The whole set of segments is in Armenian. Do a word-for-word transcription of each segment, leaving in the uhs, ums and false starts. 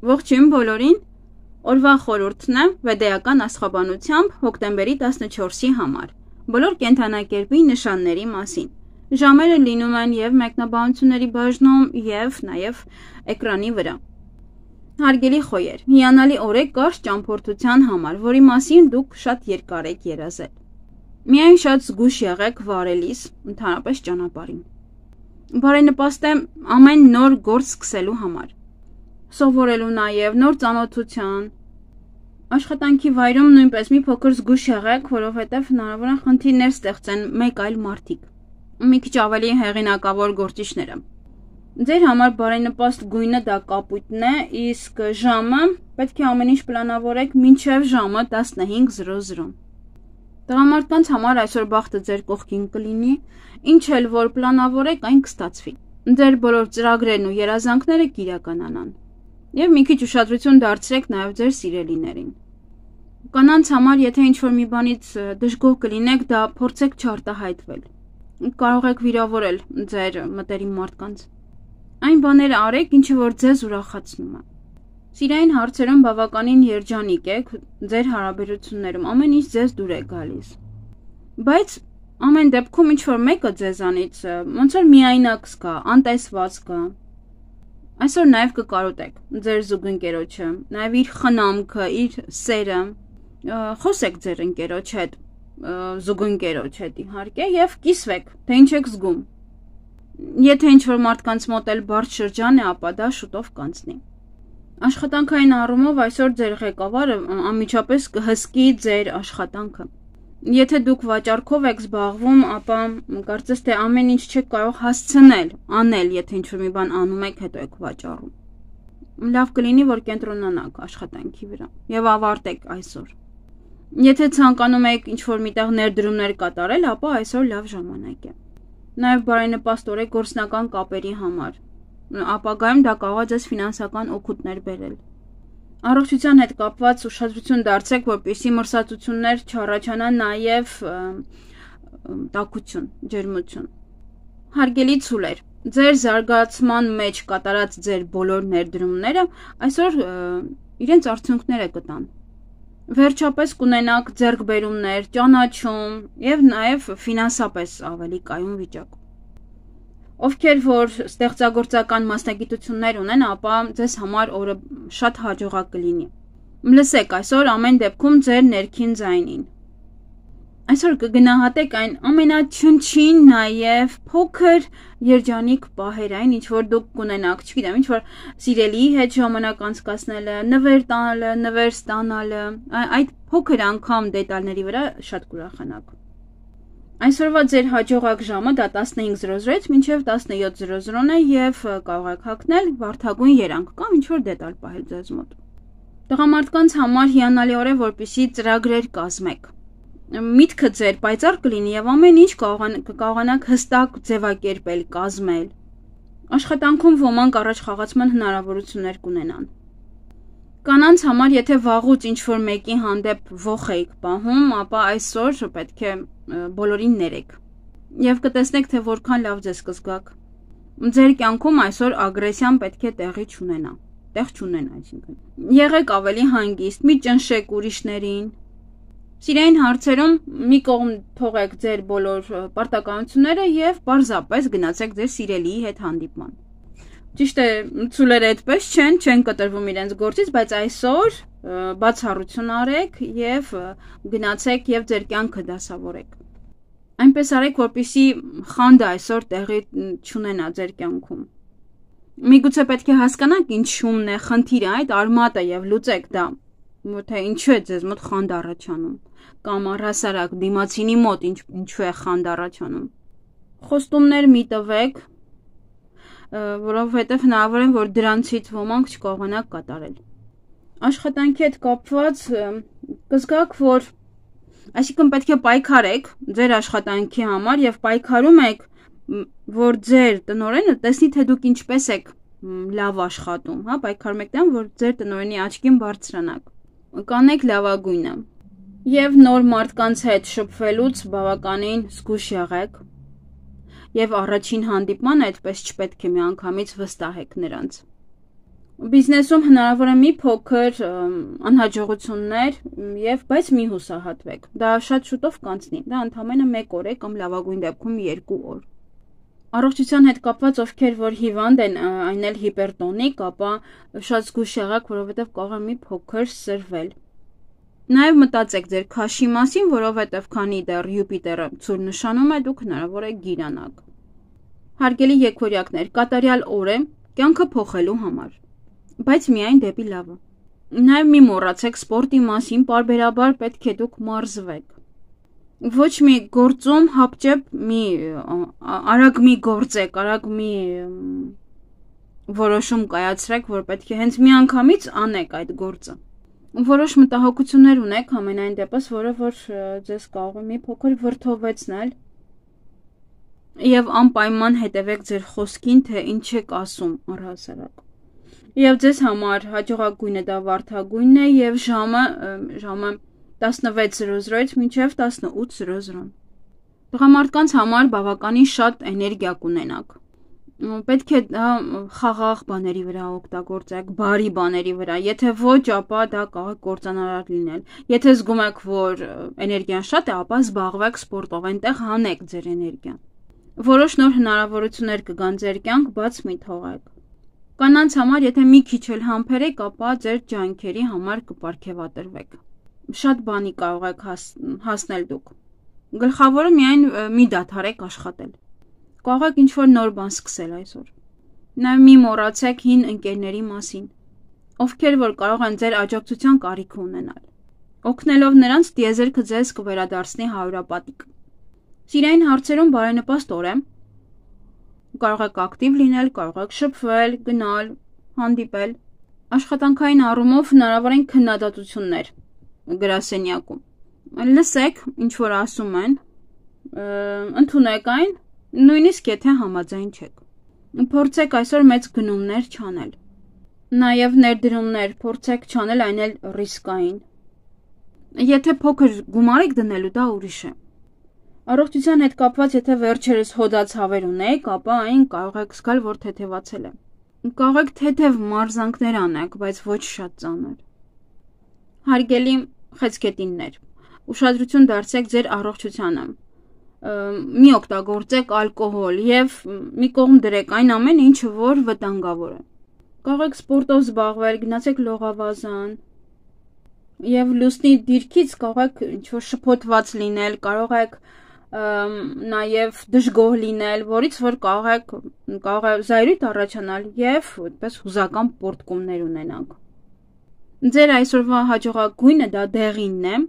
Ողջույն բոլորին, օրվա խորհուրդն է վեդեական աստղաբանությամբ հոկտեմբերի տասնչորսի համար, բոլոր կենդանակերպի նշանների մասին։ Ժամերը լինում են և մեկնաբանությունների բաժնում և նաև էկրանի վրա։ Հարգելի խոյեր, հիանալի օր է կարճ ճամփորդության համար, որի մասին դուք շատ երկար եք երազել։ Միայն շատ զգույշ եղեք վարելիս, ընդհանրապես ճանապարհին։ Բարենպաստ է ամեն նոր գործ սկսելու համար, սովորելու նաև նոր ծանոթության, աշխատանքի վայրում նույնպես մի փոքր զգույշ եղեք, որովհետև հնարավոր է խնդիրներ ստեղծեն մեկ այլ մարդիկ, մի քիչ ավելի հեղինակավոր գործիչները։ Ձեր համար բարենպաստ գույնը դա կապույտն է, իսկ ժամը պետք է ամեն ինչ պլանավորեք մինչև ժամը տասնհինգ զրո զրո։ Տղամարդկանց համար այսօր բախտը ձեր կողքին կլինի, ինչ էլ որ պլանավորեք, այն կստացվի։ Ձեր բոլոր ծրագրերն ու երազանքները կիրականանան։ Եվ մի քիչ ուշադրություն դարձրեք նաև ձեր սիրելիներին։ Կանանց համար, եթե ինչ-որ մի բանից դժգոհ կլինեք, դա փորձեք չարտահայտվել։ Կարող եք վիրավորել ձեր մտերիմ մարդկանց։ Այն բաները արեք, ինչը որ ձեզ ուրախացնում է։ Սիրային հարցերում բավականին երջանիկ եք, ձեր հարաբերություններում ամեն ինչ ձեզ դուր է գալիս։ Բայց ամեն դեպքում ինչ-որ մեկը ձեզանից ոնց որ միայնակ զգա, անտեսված զգա։ Այսօր նաև կկարոտեք ձեր զուգընկերոջը, նաև իր խնամքը, իր սերը, խոսեք ձեր ընկերոջ հետ, զուգընկերոջ հետ իհարկե եւ կիսվեք, թե ինչ եք զգում։ Եթե ինչ-որ մարդկանց մոտ էլ բարդ շրջան է, ապա դա շուտով կանցնի։ Աշխատանքային առումով այսօր ձեր ղեկավարը անմիջապես կհսկի ձեր աշխատանքը։ Եթե դուք վաճառքով եք զբաղվում, ապա կարծես թե ամեն ինչ չեք կարող հասցնել, անել, եթե ինչ-որ մի բան անում եք, հետո եք վաճառում։ Լավ կլինի, որ կենտրոնանաք աշխատանքի վրա եւ ավարտեք այսօր։ Եթե ցանկանում եք ինչ-որ միտեղ ներդրումներ կատարել, ապա այսօր լավ ժամանակ է։ Նաեւ բարենպաստ օր է գործնական կապերի համար։ Ապագայում դա կարող է ձեզ ֆինանսական օգուտներ բերել։ Առողջության հետ կապված ուշադրություն դարձրեք, որպեսզի մրսածություններ չառաջանան նաև տաքություն, ջերմություն։ Հարգելի ցուլեր, ձեր զարգացման մեջ կատարած ձեր բոլոր ներդրումները այսօր իրենց արդյունքները կտան։ Վերջապես կունենաք ձեռքբերումներ, ճանաչում եւ նաև ֆինանսապես ավելի կայուն վիճակ։ Ովքեր որ ստեղծագործական մասնագիտություններ ունեն, ապա ձեզ համար օրը շատ հաջողակ կլինի։ Լսեք այսօր ամեն դեպքում ձեր ներքին ձայնին։ Այսօր կգնահատեք այն ամենաչնչին նաև փոքր երջանիկ պահերային, ինչ որ դուք կունենաք, չգիտեմ, ինչ որ սիրելիի հետ ժամանակ անցկացնելը, նվեր տալը, նվեր ստանալը, այդ փոքր անգամ դետալների վրա շատ կուրախանաք։ Այսօրվա ձեր հաջողակ ժամը դա տասնհինգ զրո զրոից մինչև տասնյոթ զրո զրոն է եւ կարող եք հագնել վարդագույն երանգ կամ ինչ որ դետալ պահել ձեզ մոտ։ Տղամարդկանց համար հիանալի օր է, որպեսզի ծրագրեր կազմեք։ Միտքը ձեր պայծառ կլինի եւ ամեն ինչ կկարողանաք հստակ ձևակերպել, կազմել։ Աշխատանքում ոմանք առաջ խաղացման հնարավորություններ կունենան։ Կանանց համար, եթե վաղուց ինչ-որ մեկի հանդեպ ոխ եք պահում, ապա այսօր պետք է բոլորին ներեք եւ կտեսնեք, թե որքան լավ ձեզ կզգաք։ Ձեր կյանքում այսօր ագրեսիան պետք է տեղի չունենա, տեղ չունենա, այսինքն։ Եղեք ավելի հանգիստ, մի ճնշեք ուրիշներին։ Սիրային հարցերում մի կողմ թողեք ձեր բոլոր պարտականությունները եւ պարզապես գնացեք ձեր սիրելիի հետ հանդիպման։ Ճիշտ է, ցուլերը այդպես չեն, չեն կտրվում իրենց գործից, բայց այսօր բացառություն արեք եւ գնացեք եւ ձեր կյանքը դասավորեք։ Այնպես արեք, որպեսզի խանդը այսօր տեղի չունենա ձեր կյանքում։ Միգուցե պետք է հասկանաք ինչումն է խնդիրը, այդ արմատը եւ լուծեք դա, թե ինչու է ձեզ մոտ խանդ առաջանում, կամ առհասարակ դիմացինի մոտ ինչու է խանդ առաջանում։ Խոստումներ մի տվեք, որովհետև հնարավոր է, որ դրանցից ոմանք չկարողանաք կատարել։ Աշխատանքի հետ կապված կզգաք, որ այսինքն պետք է պայքարեք ձեր աշխատանքի համար եւ պայքարում եք, որ ձեր տնօրենը տեսնի, թե դուք ինչպես եք լավ աշխատում, հա, պայքարում եք դրան, որ ձեր տնօրենի աչքին բարձրանաք։ Կանեք լավագույնը եւ նոր մարդկանց հետ շփվելուց բավականին զգույշ եղեք։ Եվ առաջին հանդիպմանը այդպես չպետք է միանգամից վստահեք նրանց։ Բիզնեսում հնարավոր է մի փոքր անհաջողություններ եւ բայց մի հուսահատվեք։ Դա շատ շուտով կանցնի։ Դա ընդամենը մեկ օր է կամ լավագույն դեպքում երկու օր։ Առողջության հետ կապված ովքեր որ հիվանդ են, այն էլ հիպերտոնիկ, ապա շատ զգույշ եղեք, որովհետեւ կարող է մի փոքր սրվել։ Նաեւ մտածեք ձեր քաշի մասին, որովհետեւ քանի դեռ Յուպիտերը ցուր նշանում է, դուք հնարավոր է գիրանաք։ Հարգելի եկորյակներ, կատարյալ օր է կյանքը փոխելու համար, բայց միայն դեպի լավը։ Նաև մի մոռացեք սպորտի մասին, պարբերաբար պետք է դուք մարզվեք։ Ոչ մի գործում հապճեպ մի արագ մի գործեք, արագ մի որոշում կայացրեք, որ պետք է հենց մի անգամից անեք այդ գործը։ Որոշ մտահոգություններ ունեք ամենայն դեպս, որը որ ձեզ կարող է մի փոքր վրդովեցնել եւ անպայման հետևեք ձեր խոսքին, թե ինչ եք ասում առհասարակ։ Եվ ձեզ համար հաջողակույնը դա վարդագույնն է եւ ժամը ժամը տասնվեց զրո զրոից մինչև տասնութ զրո զրո։ Տղամարդկանց համար բավականին շատ էներգիա կունենաք։ Պետք է դա խաղաղ բաների վրա օգտագործեք, բարի բաների վրա։ Եթե ոչ, ապա դա կարող է կործանարար լինել։ Եթե զգում եք, որ էներգիան շատ է, ապա զբաղվեք սպորտով, այնտեղ հանեք ձեր էներգիան։ Որոշ նոր հնարավորություններ կգան ձեր կյանք, բաց մի թողեք։ Կանանց համար, եթե մի քիչ էլ համբերեք, ապա ձեր ջանքերի համար կպարգևատրվեք։ Շատ բանի կարող եք հասնել դուք։ Գլխավորը միայն մի դադարեք աշխատել։ Կարող եք ինչ-որ նոր բան սկսել այսօր։ Նաև մի մոռացեք հին ընկերների մասին, ովքեր որ կարող են ձեր աջակցության կարիք ունենալ։ Օգնելով նրանց տիեզերքը ձեզ կվերադարձնի հարյուրապատիկ։ Սիրային հարցերում բարենպաստ օր է։ Կարող եք ակտիվ լինել, կարող եք շփվել, գնալ, հանդիպել։ Աշխատանքային առումով հնարավոր են քննադատություններ գրասենյակում։ Լսեք, ինչ որ ասում են, ընդունեք այն, նույնիսկ եթե համաձայն չեք։ Փորձեք այսօր մեծ գնումներ չանել։ Նաև ներդրումներ փորձեք չանել, այն էլ ռիսկային։ Եթե փոքր գումար եք դնելու, դա ուրիշ է։ Առողջության հետ կապված, եթե վերջերս հոդացավեր ունեք, ապա այն կարող եք զգալ, որ թեթևացել է։ Կարող եք թեթև մարզանքներ անեք, բայց ոչ շատ ծանր։ Հարգելի խեցգետիններ, ուշադրություն դարձրեք ձեր առողջությանը։ Մի օգտագործեք ալկոհոլ եւ մի կողմ դրեք այն ամենը, ինչը որ վտանգավոր է։ Կարող եք սպորտով զբաղվել, գնացեք լողավազան եւ լուսնի դիրքից կարող եք ինչ-որ շփոթված լինել, կարող եք նաև դժգոհ լինել, որից որ կարող եք կարող է զայրույթ առաջանալ եւ այդպես հուզական պորտկումներ ունենանք։ Ձեր այսօրվա հաջողակույնը դա դեղինն է,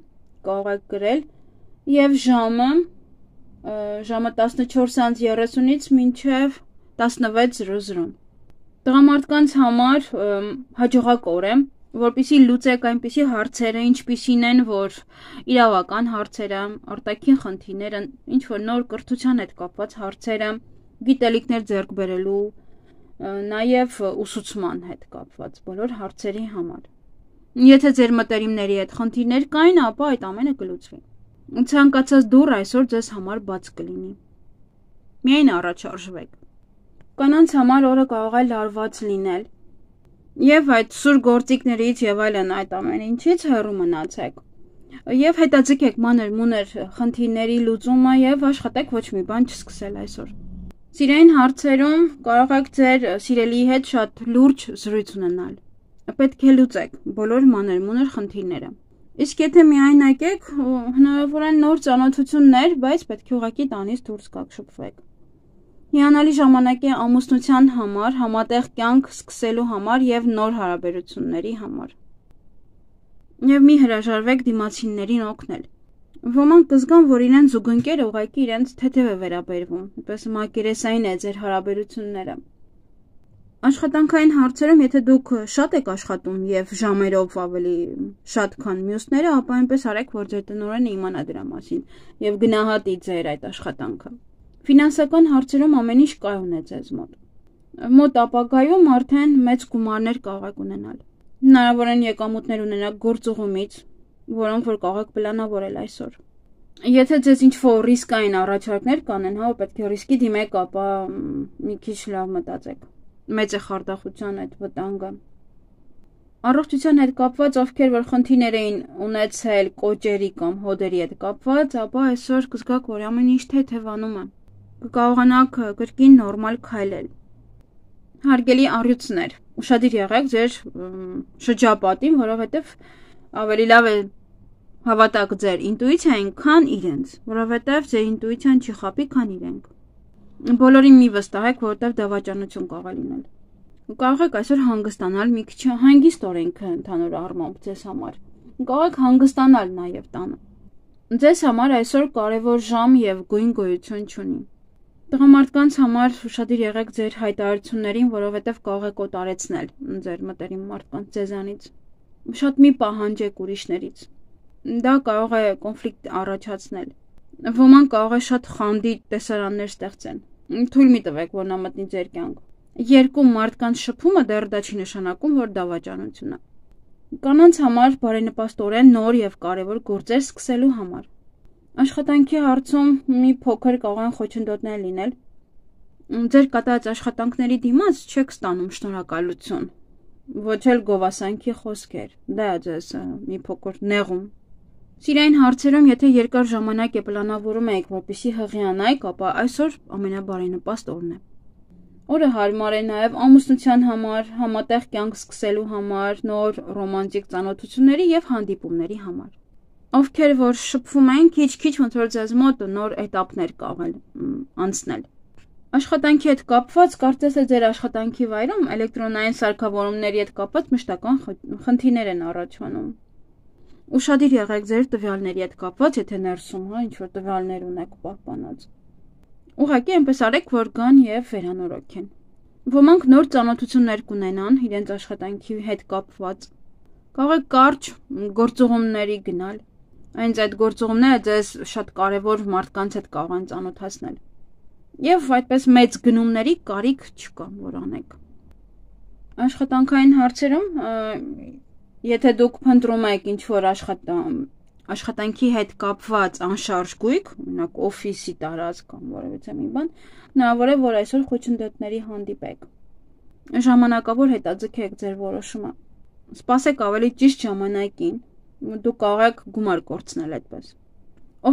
կարող եք գրել եւ ժամը ժամը տասնչորս երեսունից մինչև տասնվեց զրո զրո։ Տղամարդկանց համար հաջողակ օր է, որպեսզի լուծեք այնպիսի հարցերը, ինչպիսին են, որ իրավական հարցերը, արտաքին խնդիրները, ինչ որ նոր կրթության հետ կապված հարցերը, գիտելիքներ ձեռք բերելու, նաև ուսուցման հետ կապված բոլոր հարցերի համար։ Եթե ձեր մտերիմների հետ խնդիրներ կային, ապա այդ ամենը կլուծվի։ Ցանկացած դուռ այսօր ձեզ համար բաց կլինի։ Միայն առաջարժվեք։ Կանանց համար օրը կարող է լարված լինել։ Եվ այդ սուր գործիքներից եւ այլն այդ ամեն ինչից հեռու մնացեք։ Եվ հետաձգեք մանր մուներ խնդիրների լուծումը եւ աշխատեք ոչ մի բան չսկսել այսօր։ Սիրային հարցերում կարող եք ձեր սիրելիի հետ շատ լուրջ զրույց ունենալ։ Պետք է լուծեք բոլոր մանր մուներ խնդիրները։ Իսկ եթե միայնակ եք, հնարավոր են նոր ծանոթություններ, բայց պետք է ուղղակի տանից դուրս գաք, շփվեք։ Հիանալի ժամանակ է ամուսնության համար, համատեղ կյանք սկսելու համար եւ նոր հարաբերությունների համար։ Եվ մի հրաժարվեք դիմացիններին օգնել։ Ոմանք կզգան, որ իրենց զուգընկերը ուղղակի իրենց թեթև է վերաբերվում, այնպես մակերեսային է ձեր հարաբերությունները։ Աշխատանքային հարցերում, եթե դուք շատ եք աշխատում եւ ժամերով ավելի շատ քան մյուսները, ապա այնպես արեք, որ ձեր տնօրենը իմանա դրա մասին եւ գնահատի ձեր այդ աշխատանքը։ Ֆինանսական հարցերում ամեն ինչ կայուն է ձեզ մոտ։ Մոտ ապագայում արդեն մեծ գումարներ կարող եք ունենալ։ Հնարավոր են եկամուտներ ունենալ գործուղումից, որոնք որ կարող եք պլանավորել այսօր։ Եթե ձեզ ինչ-որ ռիսկային առաջարկներ կանեն, հա, պետք է ռիսկի դիմեք, ապա մի քիչ լավ մտածեք։ Մեծ է խարդախության այդ վտանգը։ Առողջության հետ կապված ովքեր որ խնդիրներ էին ունեցել կոճերի կամ հոդերի հետ կապված, ապա այսօր կզգաք, որ ամեն ինչ թեթևանում է։ Կկարողանաք կրկին նորմալ քայլել։ Հարգելի առյուծներ, ուշադիր եղեք ձեր շրջապատին, որովհետև ավելի լավ է հավատաք ձեր ինտուիցիային, քան իրենց, որովհետև ձեր ինտուիցիան չի խաբի, քան իրենք։ Բոլորին մի վստահեք, որովհետև դավաճանություն կարող է լինել։ Կարող եք այսօր հանգստանալ մի քիչ հանգիստորեն ընդհանուր առմամբ ձեզ համար։ Կարող եք հանգստանալ նաև տանը։ Ձեզ համար այսօր կարևոր ժամ եւ գույն գոյություն չունի։ Տղամարդկանց համար ուշադիր եղեք ձեր հայտարարություններին, որովհետև կարող եք օտարեցնել ձեր մտերիմ մարդկանց ձեզանից։ Շատ մի պահանջեք ուրիշներից։ Դա կարող է կոնֆլիկտ առաջացնել։ Ոմանք կարող է շատ խանդի տեսարաններ ստեղծեն։ Թույլ մի տվեք, որ նա մտնի ձեր կյանք։ Երկու մարդկանց շփումը դեռ դա չի նշանակում, որ դավաճանություն է։ Կանանց համար բարենպաստորեն նոր եւ կարևոր գործեր սկսելու համար։ Աշխատանքի հարցում մի փոքր կարող են խոչընդոտներ լինել։ Ձեր կատարած աշխատանքների դիմաց չեք ստանում շնորհակալություն, ոչ էլ գովասանքի խոսքեր։ Դա է ձեզ մի փոքր նեղում։ Սիրային հարցերում, եթե երկար ժամանակ է պլանավորում եք, որպեսզի հղիանայք, ապա այսօր ամենաբարենպաստ օրն է։ Օրը հարմար է նաև ամուսնության համար, համատեղ կյանք սկսելու համար, նոր ռոմանտիկ ծանոթությունների եւ հանդիպումների համար։ Ովքեր որ շփվում են, քիչ-քիչ ոնց որ ձեզ մոտ նոր էտապներ կարող անցնել։ Աշխատանքի հետ կապված, կարծես թե ձեր աշխատանքի վայրում էլեկտրոնային սարքավորումների հետ կապված մշտական խնդիրներ են առաջանում։ Ուշադիր եղեք ձեր տվյալների հետ կապված, եթե ներսում հա ինչ որ տվյալներ ունեք պահպանած։ Ուղղակի այնպես արեք, որ գան եւ վերանորոգեն։ Ոմանք նոր ծանոթություններ կունենան իրենց աշխատանքի հետ կապված։ Կարող եք կարճ գործողումների գնալ։ Այնց այդ գործողումները ձեզ շատ կարևոր մարդկանց հետ կարող են ծանոթացնել։ Եվ այդպես մեծ գնումների կարիք չկա, որ անեք։ Աշխատանքային հարցերում, եթե դուք փնտրում եք ինչ-որ աշխատանք Աշխատանքի հետ կապված անշարժ գույք, օրինակ օֆիսի տարածք կամ որևէ մի բան, հնարավոր է, որ այսօր խոչընդոտների հանդիպեք։ Ժամանակավոր հետաձգեք ձեր որոշումը։ Սպասեք ավելի ճիշտ ժամանակին, դուք կարող եք գումար կորցնել այդպես։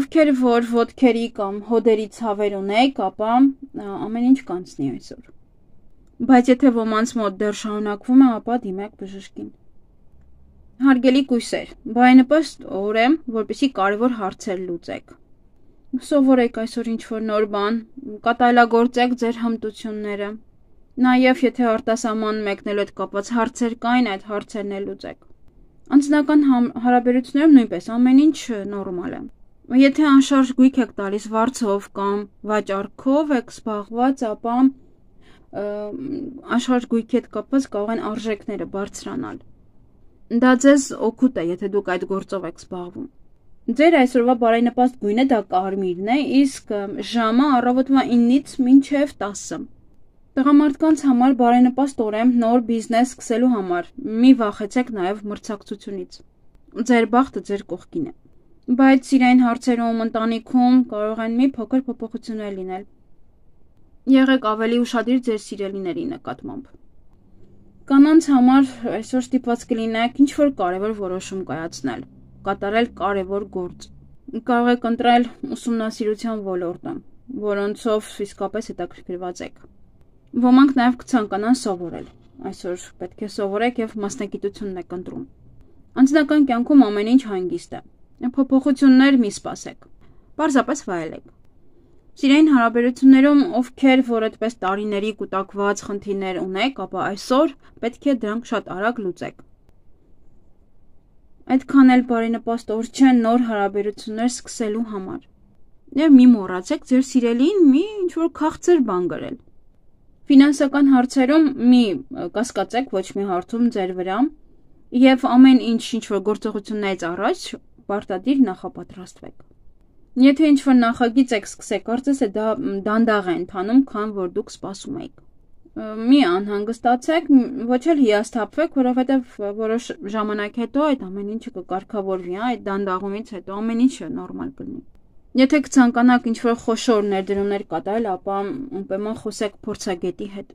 Ովքեր որ ոտքերի կամ հոդերի ցավեր ունեք, ապա ամեն ինչ կանցնի այսօր։ Բայց եթե ոմանց մոտ դեռ շարունակվում է, ապա դիմեք բժշկին։ Հարգելի կույսեր, բարենպաստ օր է, որպեսզի կարևոր հարցեր լուծեք։ Սովորեք այսօր ինչ-որ նոր բան, կատարելագործեք ձեր հմտությունները։ Նաև եթե արտասահման մեկնելու հետ կապված հարցեր կային, այդ հարցերն էլ լուծեք։ Անձնական հարաբերություններում նույնպես ամեն ինչ նորմալ է։ Եթե անշարժ գույք եք տալիս վարձով կամ վաճառքով եք զբաղված, ապա անշարժ գույքի հետ կապված կարող են արժեքները բարձրանալ։ Դա ձեզ օգուտ է, եթե դուք այդ գործով եք զբաղվում։ Ձեր այսօրվա բարենպաստ գույնը դա կարմիրն է, իսկ ժամը առավոտվա ինից մինչև տասը։ Տղամարդկանց համար բարենպաստ օր է նոր բիզնես սկսելու համար։ Մի վախեցեք նաև մրցակցությունից։ Ձեր բախտը ձեր կողքին է։ Բայց սիրային հարցերում, ընտանիքում կարող են մի փոքր փոփոխություններ լինել։ Եղեք ավելի ուշադիր ձեր սիրելիների նկատմամբ։ Կանանց համար այսօր ստիպված կլինեք ինչ-որ կարևոր որոշում կայացնել, կատարել կարևոր գործ։ Կարող եք ընտրել ուսումնասիրության ոլորտը, որոնցով իսկապես հետաքրքրված եք։ Ոմանք նաև կցանկանան սովորել։ Այսօր պետք է սովորեք եւ մասնագիտությունն եք ընտրում։ Անձնական կյանքում ամեն ինչ հանգիստ է։ Փոփոխություններ մի սպասեք։ Պարզապես վայելեք։ Սիրային հարաբերություններում ովքեր որ այդպես տարիների կուտակված խնդիրներ ունեք, ապա այսօր պետք է դրանք շատ արագ լուծեք։ Այդքան էլ բարենպաստ օր չէ նոր հարաբերություններ սկսելու համար։ Եվ մի մոռացեք ձեր սիրելին մի ինչ-որ քաղցր բան գրել։ Ֆինանսական հարցերում մի կասկածեք ոչ մի հարցում ձեր վրա եւ ամեն ինչ ինչ-որ գործողություններից առաջ պարտադիր նախապատրաստվեք։ Եթե ինչ-որ նախագիծ եք սկսեք, կարծես է դա դանդաղ է ընթանում, քան որ դուք սպասում եք։ Մի անհանգստացեք, ոչ էլ հիասթափվեք, որովհետև որոշ ժամանակ հետո այդ ամեն ինչը կկարգավորվի, այդ դանդաղումից հետո ամեն ինչը նորմալ կլինի։ Եթե կցանկանաք ինչ-որ խոշոր ներդրումներ կատարել, ապա ուրեմն խոսեք փորձագետի հետ։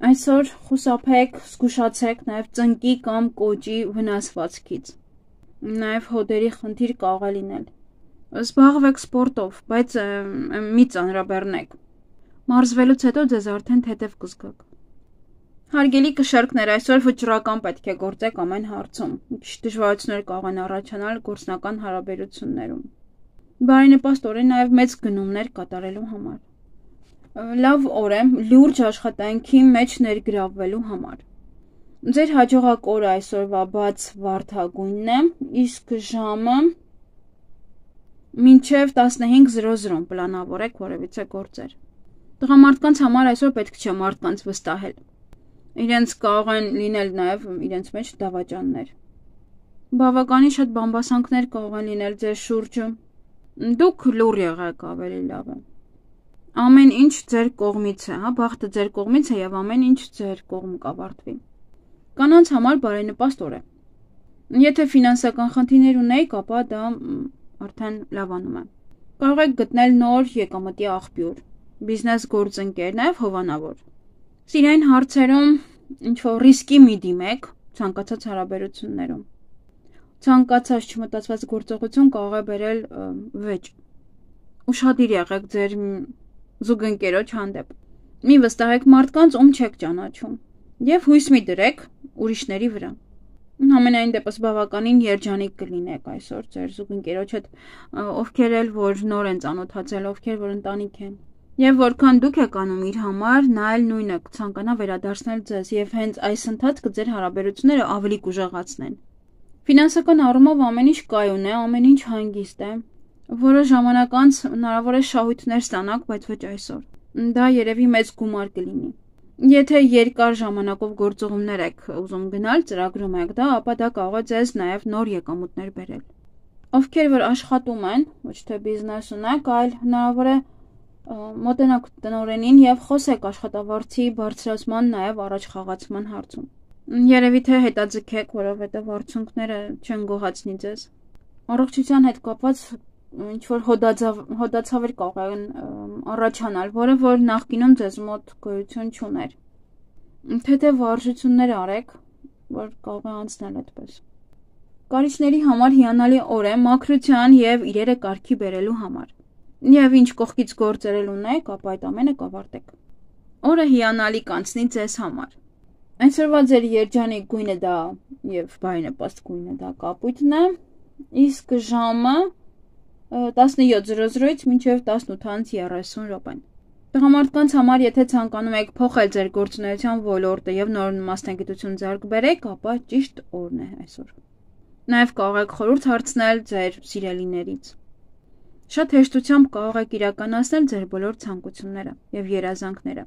Այսօր խուսափեք, զգուշացեք նաև ծնկի կամ կոճի վնասվածքից։ Նաև հոդերի խնդիր կարող է լինել։ Զբաղվեք սպորտով, բայց մի ծանրաբեռնեք։ Մարզվելուց հետո ձեզ արդեն թեթև կզգաք։ Հարգելի կշերկներ, այսօր վճռական պետք է գործեք ամեն հարցում։ Քիչ դժվարություններ կարող են առաջանալ գործնական հարաբերություններում։ Բարենպաստ օր է նաև մեծ գնումներ կատարելու համար։ Լավ օր է լուրջ աշխատանքի մեջ ներգրավվելու համար։ Ձեր հաջողակ օրը այսօրվա բաց վարդագույնն է, իսկ ժամը մինչև տասնհինգ զրո զրո պլանավորեք որևիցե գործեր։ Տղամարդկանց համար այսօր պետք չէ մարդկանց վստահել։ Իրենց կարող են լինել նաև իրենց մեջ դավաճաններ։ Բավականին շատ բամբասանքներ կարող են լինել ձեր շուրջը։ Դուք լուռ եղեք ավելի լավ է։ Ամեն ինչ ձեր կողմից է, հա, բախտը ձեր կողմից է եւ ամեն ինչ ձեր կողմ կավարտվի։ Կանանց համար բարենպաստ օր է։ Եթե ֆինանսական խնդիրներ ունեք, ապա դա արդեն լավանում է։ Կարող եք գտնել նոր եկամտի աղբյուր, բիզնես գործընկեր, նաեւ հովանավոր։ Սիրային հարցերում ինչ-որ ռիսկի մի դիմեք ցանկացած հարաբերություններում։ Ցանկացած չմտածված գործողություն կարող է բերել վեճ։ Ուշադիր եղեք ձեր զուգընկերոջ հանդեպ։ Մի վստահեք մարդկանց, ում չեք ճանաչում, եւ հույս մի դրեք ուրիշների վրա։ Համենայն դեպս բավականին երջանիկ կլինեք այսօր ձեր զուգընկերոջ հետ, ովքեր էլ որ նոր են ծանոթացել, ովքեր որ ընտանիք են։ Եվ որքան դուք եք անում իր համար, նա էլ նույնը կցանկանա վերադարձնել ձեզ եւ հենց այս ընթացքը ձեր հարաբերությունները ավելի կուժեղացնեն։ Ֆինանսական առումով ամեն ինչ կայուն է, ամեն ինչ հանգիստ է։ Որոշ ժամանակ անց հնարավոր է շահույթներ ստանաք, բայց ոչ այսօր։ Դա երևի մեծ գումար կլինի։ Եթե երկար ժամանակով գործողումներ եք ուզում գնալ, ծրագրում եք դա, ապա դա կարող է ձեզ նաև նոր եկամուտներ բերել։ Ովքեր որ աշխատում են, ոչ թե բիզնես ունեք, այլ հնարավոր է մոտենաք տնօրենին եւ խոսեք աշխատավարձի բարձրացման նաև առաջ խաղացման հարցում։ Երևի թե հետաձգեք, որովհետեւ արդյունքները չեն գոհացնի ձեզ։ Առողջության հետ կապված ինչ-որ հոդացավեր կարող են առաջանալ, որը որ նախկինում ձեզ մոտ գոյություն չուներ։ Թեթև վարժություններ արեք, որ կարող է անցնել այդպես։ Կարիճների համար հիանալի օր է մաքրության եւ իրերը կարգի բերելու համար։ Եվ ինչ կողքից գործերել ունեք, ապա այդ ամենը կավարտեք։ Օրը հիանալի կանցնի ձեզ համար։ Այսօրվա ձեր երջանիկ գույնը դա եւ բարենպաստ գույնը դա կապույտն է, իսկ ժամը տասնյոթ զրո զրոից մինչև տասնութ երեսուն րոպեն։ Տղամարդկանց համար, եթե ցանկանում եք փոխել ձեր գործունեության ոլորտը եւ նոր մասնագիտություն ձեռք բերեք, ապա ճիշտ օրն է այսօր։ Նաեւ կարող եք խորհուրդ հարցնել ձեր սիրելիներից։ Շատ հեշտությամբ կարող եք իրականացնել ձեր բոլոր ցանկությունները եւ երազանքները։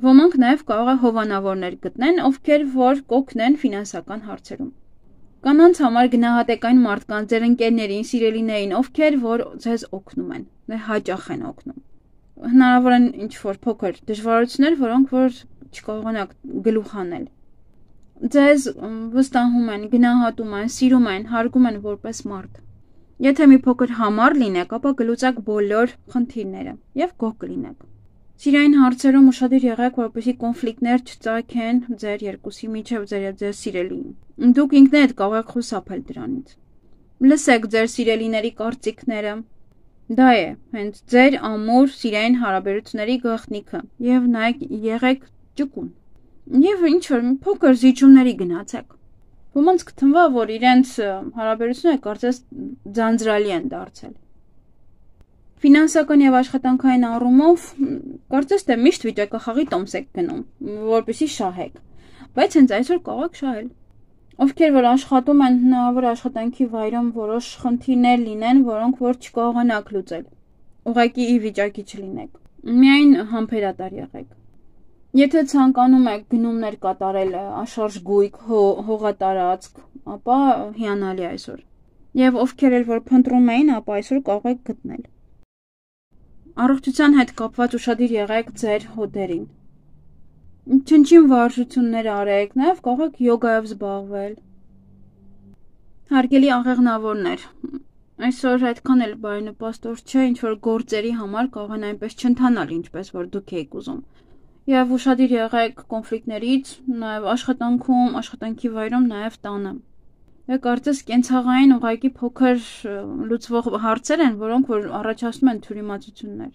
Ոմանք նաեւ կարող է հովանավորներ գտնեն, ովքեր որ կօգնեն ֆինանսական հարցերում։ Կանանց համար գնահատեք այն մարդկանց, ձեր ընկերներին, սիրելիներին, ովքեր որ ձեզ օգնում են, դե հաճախ են օգնում։ Հնարավոր են ինչ-որ փոքր դժվարություններ, որոնք որ չկարողանաք գլուխ անել։ Ձեզ վստահում են, գնահատում են, սիրում են, հարգում են որպես մարդ։ Եթե մի փոքր համառ լինեք, ապա կլուծեք բոլոր խնդիրները եւ գոհ կլինեք։ Սիրային հարցերում ուշադիր եղեք, որպեսզի կոնֆլիկտներ չծագեն ձեր երկուսի միջև ձեր եւ ձեր սիրելիին։ Դուք ինքներդ կարող եք խուսափել դրանից։ Լսեք ձեր սիրելիների կարծիքները։ Դա է հենց ձեր ամուր սիրային հարաբերությունների գաղտնիքը եւ նայեք եղեք ճկուն։ Եվ ինչ որ փոքր զիջումների գնացեք։ Ոմանց կթվա, որ իրենց հարաբերությունները կարծես ձանձրալի են դարձել։ Ֆինանսական եւ աշխատանքային առումով կարծես թե միշտ վիճակախաղի տոմս եք գնում, որպեսզի շահեք, բայց հենց այսօր կարող եք շահել։ Ովքեր որ աշխատում են, հնարավոր աշխատանքի վայրում որոշ խնդիրներ լինեն, որոնք որ չկարողանաք լուծել։ Ուղղակի ի վիճակի չլինեք։ Միայն համբերատար եղեք։ Եթե ցանկանում եք գնումներ կատարել աշարժ գույք, հողատարածք, ապա հիանալի այսօր։ Եվ ովքեր էլ որ փնտրում էին, ապա այսօր կարող եք գտնել։ Առողջության հետ կապված ուշադիր եղեք ձեր հոդերին։ Չնչին վարժություններ արեք, նաև կարող եք յոգայով զբաղվել։ Հարգելի աղեղնավորներ, այսօր այդքան էլ բարենպաստ օր չէ, ինչ որ գործերի համար կարող են այնպես չընթանալ, ինչպես որ դուք եք ուզում։ Եվ ուշադիր եղեք կոնֆլիկտներից, նաև աշխատանքում, աշխատանքի վայրում, նաև տանը։ Եվ կարծես կենցաղային ուղղակի փոքր լուծվող հարցեր են, որոնք որ առաջացնում են թյուրիմացություններ։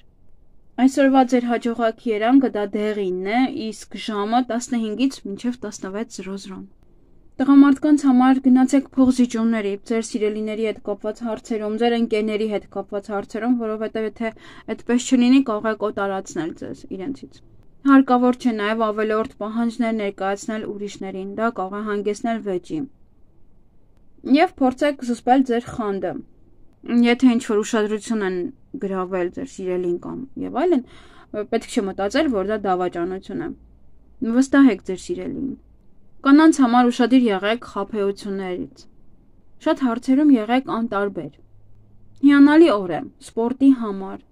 Այսօրվա ձեր հաջողակ երանգը դա դեղինն է, իսկ ժամը տասնհինգից մինչև տասնվեց զրո զրո։ Տղամարդկանց համար գնացեք փողզիջումների, ձեր սիրելիների հետ կապված հարցերում, ձեր ընկերների հետ կապված հարցերում, որովհետև եթե այդպես չլինի, կարող եք օտարացնել ձեզ իրենցից։ Հարկավոր չէ նաև ավելորդ պահանջներ ներկայացնել ուրիշներին, դա կարող է հանգեցնել վեճի։ Եվ փորձեք զսպել ձեր խանդը։ Եթե ինչ-որ ուշադրություն են գրավել ձեր սիրելին կամ եւ այլն, պետք չէ մտածել, որ դա դավաճանություն է։ Վստահեք ձեր սիրելիին։ Կանանց համար ուշադիր եղեք խաբեություններից։ Շատ հարցերում եղեք անտարբեր։ Հիանալի օր է սպորտի համար։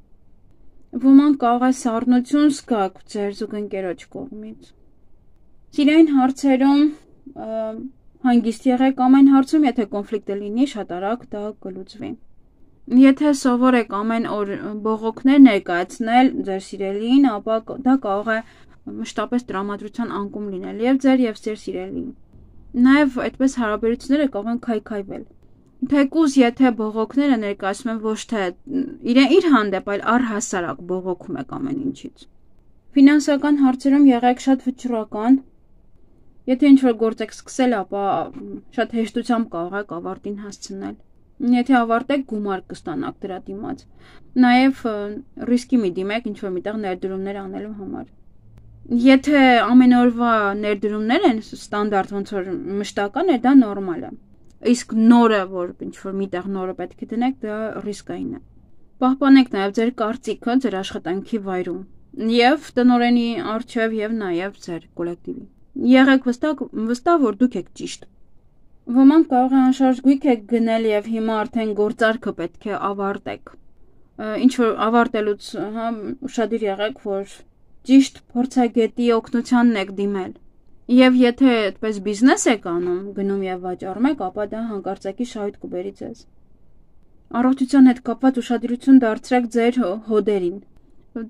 Ոմանք կարող է սառնություն զգաք ձեր զուգընկերոջ կողմից։ Սիրային հարցերում հանգիստ եղեք ամեն հարցում, եթե կոնֆլիկտը լինի, շատ արագ դա կլուծվի։ Եթե սովոր եք ամեն օր բողոքներ ներկայացնել ձեր սիրելիին, ապա դա կարող է մշտապես տրամադրության անկում լինել եւ ձեր եւ ձեր սիրելիին։ Նաեւ այդպես հարաբերությունները կարող են քայքայվել։ Թեկուզ եթե բողոքները ներկայացնում են ոչ թե իրեն իր հանդեպ, այլ առհասարակ բողոքում եք ամեն ինչից։ Ֆինանսական հարցերում եղեք շատ վճռական։ Եթե ինչ-որ գործ եք սկսել, ապա շատ հեշտությամբ կարող եք ավարտին հասցնել։ Եթե ավարտեք, գումար կստանաք դրա դիմաց։ Նաեւ ռիսկի մի դիմեք ինչ-որ միտեղ ներդրումներ անելու համար։ Եթե ամեն օրվա ներդրումներ են ստանդարտ ոնց որ մշտական է, դա նորմալ է։ Իսկ նորը, որ ինչ-որ միտեղ նորը պետք է դնեք, դա ռիսկային է։ Պահպանեք նաև ձեր կարծիքը ձեր աշխատանքի վայրում եւ տնօրենի առջեւ եւ նաեւ ձեր կոլեկտիվի։ Եղեք վստահ, վստահ, որ դուք եք ճիշտ։ Ոմանք կարող է անշարժ գույք եք գնել եւ հիմա արդեն գործարքը պետք է ավարտեք։ Ինչ որ ավարտելուց, հա, ուշադիր եղեք, որ ճիշտ փորձագետի օգնությանն եք դիմել։ Եվ եթե այդպես բիզնես եք անում, գնում եւ վաճառում եք, ապա դա հանկարծակի շահույթ կբերի ձեզ։ Առողջության հետ կապված ուշադրություն դարձրեք ձեր հոդերին։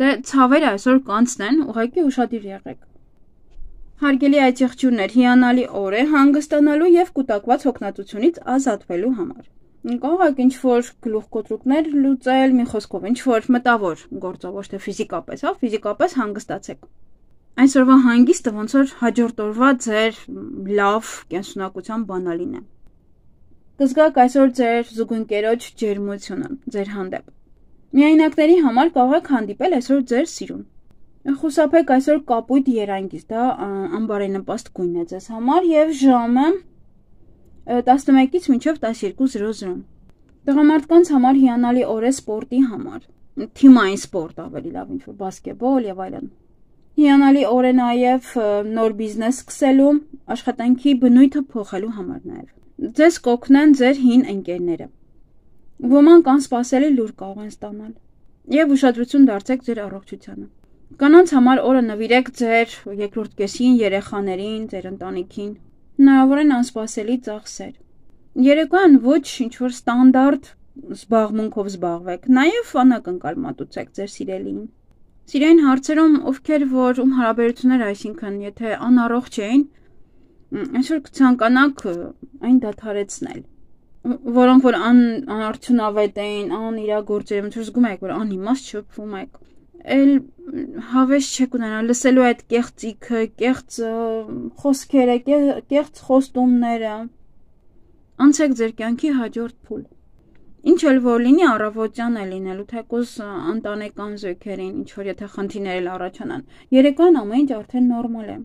Դե ցավերը այսօր կանցնեն, ուղղակի ուշադիր եղեք։ Հարգելի այցեղջյուրներ, հիանալի օր է հանգստանալու եւ կուտակված հոգնածությունից ազատվելու համար։ Կարող եք ինչ-որ գլուխկոտրուկներ լուծել, մի խոսքով ինչ-որ մտավոր գործով, ոչ թե ֆիզիկապես, հա, ֆիզիկապես հանգստացեք։ Այսօրվա հանգիստը ոնց որ հաջորդ օրվա ձեր լավ կենսունակության բանալին է։ Կզգաք այսօր ձեր զուգընկերոջ ջերմությունը ձեր հանդեպ։ Միայնակների համար կարող եք հանդիպել այսօր ձեր սիրուն։ Խուսափեք այսօր կապույտ երանգից, դա անբարենպաստ գույն է ձեզ համար եւ ժամը տասնմեկից մինչև տասներկու զրո զրո։ Տղամարդկանց համար հիանալի օր է սպորտի համար։ Թիմային սպորտ ավելի լավ, ինչ-որ բասկետբոլ եւ այլն։ Հիանալի օր է նաեւ նոր բիզնես սկսելու, աշխատանքի բնույթը փոխելու համար նաեւ։ Ձեզ կօգնեն ձեր հին ընկերները։ Ոմանք անսպասելի լուր կարող են ստանալ։ Եվ ուշադրություն դարձեք ձեր առողջությանը։ Կանանց համար օրը նվիրեք ձեր երկրորդ կեսին, երեխաներին, ձեր ընտանիքին։ Հնարավոր են անսպասելի ծախսեր։ Երեկոյան ոչ ինչ-որ ստանդարտ զբաղմունքով զբաղվեք, նաև անակնկալ մատուցեք ձեր սիրելիին։ Սիրային հարցերում, ովքեր որ ում հարաբերություններ, այսինքն եթե անառողջ էին, այսօր կցանկանաք այն դադարեցնել, որոնք որ անարդյունավետ էին, անիրագործեր, ոնց որ զգում եք, որ անիմաստ շփվում եք, էլ հավես չեք ունենալ լսելու այդ կեղծիքը, կեղծ խոսքերը, կեղծ խոստումները, անցեք ձեր կյանքի հաջորդ փուլ։ Ինչ էլ որ լինի, առավոտյան է լինելու, թեկուզ ընտանեկան զույգերին, ինչ որ եթե խնդիրներ էլ առաջանան, երեկոյան ամեն ինչ արդեն նորմալ է։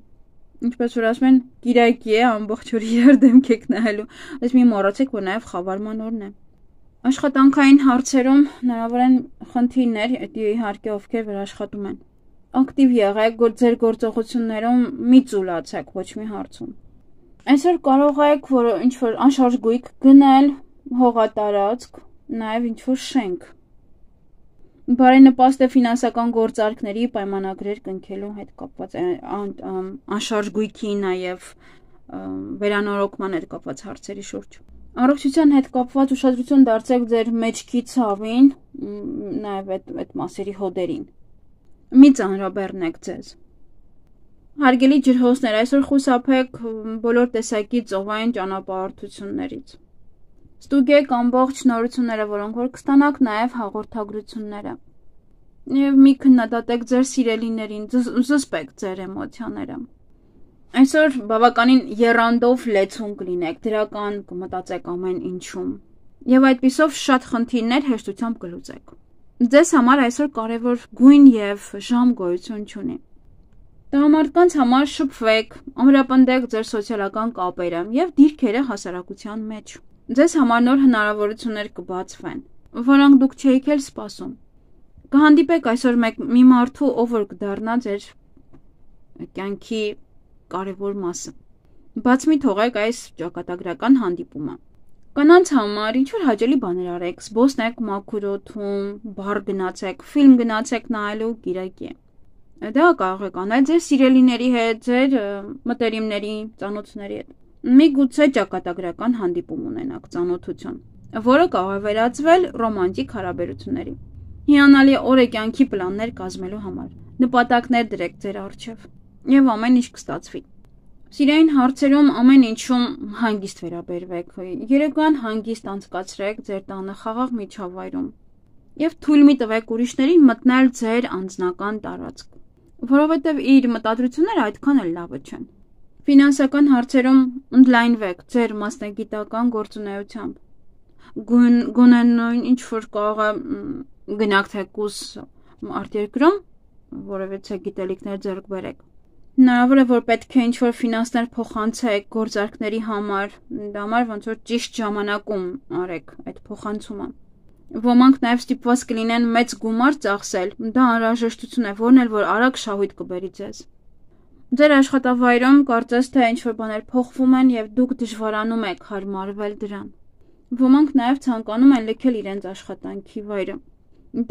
Ինչպես որ ասում են, կիրակի է, ամբողջ օր իրար դեմք եք նայելու, այս մի մոռացեք, որ նաև խավարման օրն է։ Աշխատանքային հարցերում հնարավոր են խնդիրներ, իհարկե ովքեր որ աշխատում են։ Ակտիվ եղեք, ձեր գործողություններում մի ծուլացեք ոչ մի հարցում։ Այսօր կարող եք որ ինչ որ անշարժ գույք գնել, հողատարածք, նաև ինչ որ շենք։ Բարենպաստ է ֆինանսական գործարքների պայմանագրեր կնքելու հետ կապված անշարժ գույքի, նաև վերանորոգման հետ կապված հարցերի շուրջ։ Առողջության հետ կապված ուշադրություն դարձեք ձեր մեջքի ցավին, նաև այդ այդ մասերի հոդերին։ Մի ծանրաբեռնեք ձեզ։ Հարգելի ջրհոսներ, այսօր խուսափեք բոլոր տեսակի ծովային ճանապարհորդություններից։ Ստուգեք ամբողջ նորությունները, որոնք որ կստանաք, նաև հաղորդագրությունները։ Եվ մի քննադատեք ձեր սիրելիներին, զսպեք ձեր էմոցիաները։ Այսօր բավականին եռանդով լեցուն կլինեք, դրական կմտածեք ամեն ինչում։ Եվ այդպիսով շատ խնդիրներ հեշտությամբ կլուծեք։ Ձեզ համար այսօր կարևոր գույն եւ ժամ գոյություն չունի։ Տղամարդկանց համար շփվեք, ամրապնդեք ձեր սոցիալական կապերը եւ դիրքերը հասարակության մեջ։ Ձեզ համար նոր հնարավորություններ կբացվեն, որոնք դուք չէիք էլ սպասում։ Կհանդիպեք այսօր մեկ մի մարդու, ով որ կդառնա ձեր կյանքի կարևոր մասը։ Բաց մի թողեք այս ճակատագրական հանդիպումը։ Կանանց համար ինչ որ հաճելի բաներ արեք, զբոսնեք մաքուր օդում, բար գնացեք, ֆիլմ գնացեք նայելու կիրակի։ Դա կարող եք անել ձեր սիրելիների հետ, ձեր մտերիմների, ծանոթների հետ։ Միգուցե ճակատագրական հանդիպում ունենաք, ծանոթություն, որը կարող է վերածվել ռոմանտիկ հարաբերությունների։ Հիանալի օր է կյանքի պլաններ կազմելու համար։ Նպատակներ դրեք ձեր առջև, եւ ամեն ինչ կստացվի։ Սիրային հարցերում ամեն ինչում հանգիստ վերաբերվեք։ Երեկոյան հանգիստ անցկացրեք ձեր տանը խաղաղ միջավայրում եւ թույլ մի տվեք ուրիշներին մտնել ձեր անձնական տարածք, որովհետև իր մտադրությունները այդքան էլ լավը չեն։ Ֆինանսական հարցերում ընդլայնվեք ձեր մասնագիտական գործունեությամբ։ Գոնե նույն ինչ որ կարող է գնաք թեկուզ արտերկրում, որովհետև գիտելիքներ ձեռք բերեք։ Հնարավոր է, որ պետք է ինչ որ ֆինանսներ փոխանցեք գործարքների համար, դա համար ոնց որ ճիշտ ժամանակում արեք այդ փոխանցումը։ Ոմանք նաև ստիպված կլինեն մեծ գումար ծախսել, դա անհրաժեշտություն է, որն էլ որ արագ շահույթ կբերի ձեզ։ Ձեր աշխատավայրում կարծես թե ինչ որ բաներ փոխվում են եւ դուք դժվարանում եք հարմարվել դրան։ Ոմանք նաև ցանկանում են լքել իրենց աշխատանքի վայրը։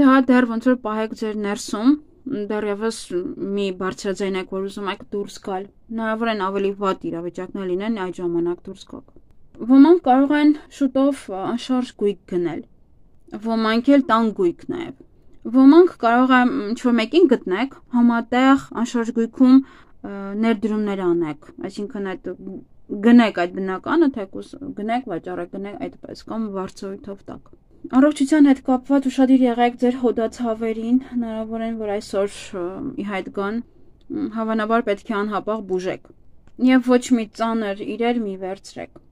Դա դեռ ոնց որ պահեք ձեր ներսում, դեռևս մի բարձրաձայն եք, որ ուզում եք դուրս գալ։ Հնարավոր են ավելի վատ իրավիճակներ լինեն այդ ժամանակ դուրս գաք։ Ոմանք կարող են շուտով անշարժ գույք գնել։ Ոմանք էլ տան գույք նաև։ Ոմանք կարող է ինչ-որ մեկին գտնեք, համատեղ անշարժ գույքում ներդրումներ անեք, այսինքն այդ գնեք այդ բնականը, թեկուզ գնեք, վաճառեք, գնեք այդպես կամ վարձույթով տակ։ Առողջության հետ կապված ուշադիր եղեք ձեր հոդացավերին, հնարավոր են, որ այսօր ի հայտ գան, հավանաբար պետք է անհապաղ բուժեք եւ ոչ մի ծանր իրեր մի վերցրեք։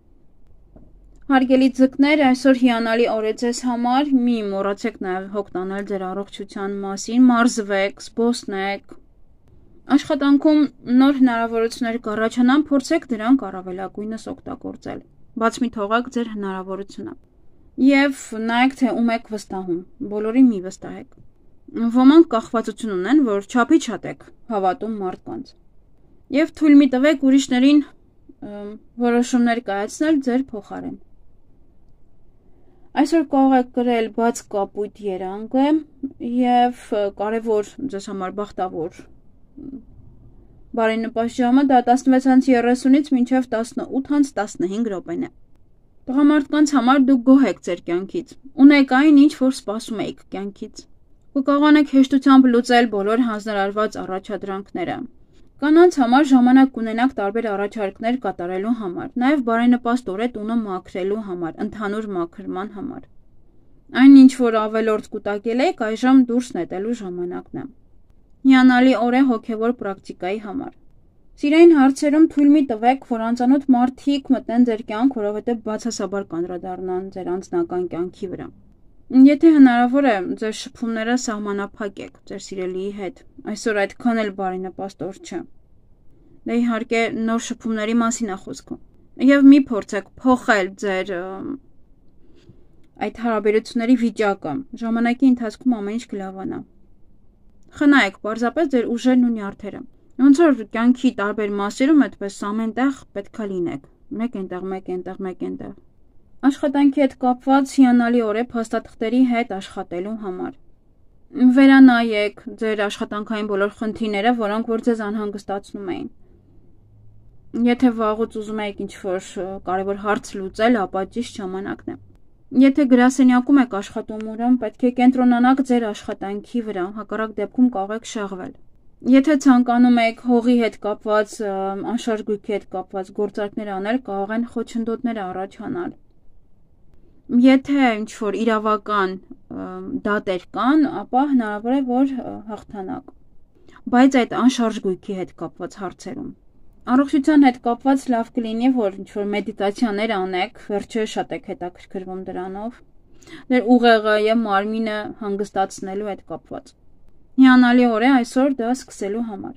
Հարգելի ձկներ, այսօր հիանալի օր է ձեզ համար, մի մոռացեք նաև հոգ տանել ձեր առողջության մասին, մարզվեք, զբոսնեք։ Աշխատանքում նոր հնարավորություններ կառաջանան, փորձեք դրանք առավելագույնս օգտագործել։ Բաց մի թողեք ձեր հնարավորությունը։ Եվ նայեք, թե ում եք վստահում, բոլորին մի վստահեք։ Ոմանք կախվածություն ունեն, որ չափի շատ եք հավատում մարդկանց։ Եվ թույլ մի տվեք ուրիշներին որոշումներ կայացնել ձեր փոխարեն։ Այսօր կարող եք կրել բաց կապույտ երանգը եւ կարևոր ձեզ համար բախտավոր բարենպաստ ժամը դա տասնվեց երեսունից մինչև տասնութ տասնհինգ րոպեն է։ Տղամարդկանց համար դուք գոհ եք ձեր կյանքից, ունեք այն, ինչ որ սպասում եք կյանքից։ Կկարողանեք հեշտությամբ լուծել բոլոր հանձնարարված առաջադրանքները։ Կանանց համար ժամանակ կունենաք տարբեր առաջարկներ կատարելու համար, նաև բարենպաստ օր է տունը մաքրելու համար, ընդհանուր մաքրման համար։ Այն ինչ որ ավելորդ կուտակել եք, այժմ դուրս նետելու ժամանակն է։ Հիանալի օր է հոգևոր պրակտիկայի համար։ Սիրային հարցերում թույլ մի տվեք, որ անծանոթ մարդիկ մտնեն ձեր կյանք, որովհետև բացասաբար կանդրադառնան ձեր անձնական կյանքի վրա։ Եթե հնարավոր է, ձեր շփումները սահմանափակեք ձեր սիրելիի հետ։ Այսօր այդքան էլ բարենպաստ օր չէ։ Դա իհարկե նոր շփումների մասին է խոսքը։ Եվ մի փորձեք փոխել ձեր այդ հարաբերությունների վիճակը։ Ժամանակի ընթացքում ամեն ինչ կլավանա։ Խնայեք պարզապես ձեր ուժերն ու նյարդերը։ Ոնց որ կյանքի տարբեր մասերում այդպես ամենտեղ պետքա լինեք։ Մեկ այնտեղ, մեկ այնտեղ, մեկ այնտեղ։ Աշխատանքի հետ կապված հիանալի օր է փաստաթղթերի հետ աշխատելու համար։ Վերանայեք ձեր աշխատանքային բոլոր խնդիրները, որոնք որ ձեզ անհանգստացնում էին։ Եթե վաղուց ուզում եք ինչ-որ կարևոր հարց լուծել, ապա ճիշտ ժամանակն է։ Եթե գրասենյակում եք աշխատում, ուրեմն պետք է կենտրոնանաք ձեր աշխատանքի վրա, հակառակ դեպքում կարող եք շեղվել։ Եթե ցանկանում եք հողի հետ կապված, անշարժ գույքի հետ կապված գործարքներ անել, կարող են խոչընդոտներ առաջանալ։ Եթե ինչ-որ իրավական դատեր կան, ապա հնարավոր է, որ հաղթանակ։ Բայց այդ անշարժ գույքի հետ կապված հարցերում առողջության հետ կապված լավ կլինի, որ ինչ-որ մեդիտացիաներ անեք, վերջը շատ եք հետաքրքրվում դրանով, դեր ուղեղը եւ մարմինը հանգստացնելու հետ կապված։ Հիանալի օր է այսօր դա սկսելու համար։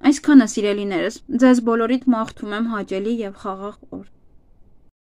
Այսքանը սիրելիներս, ձեզ բոլորիդ մաղթում եմ հաճելի եւ խաղաղ օր։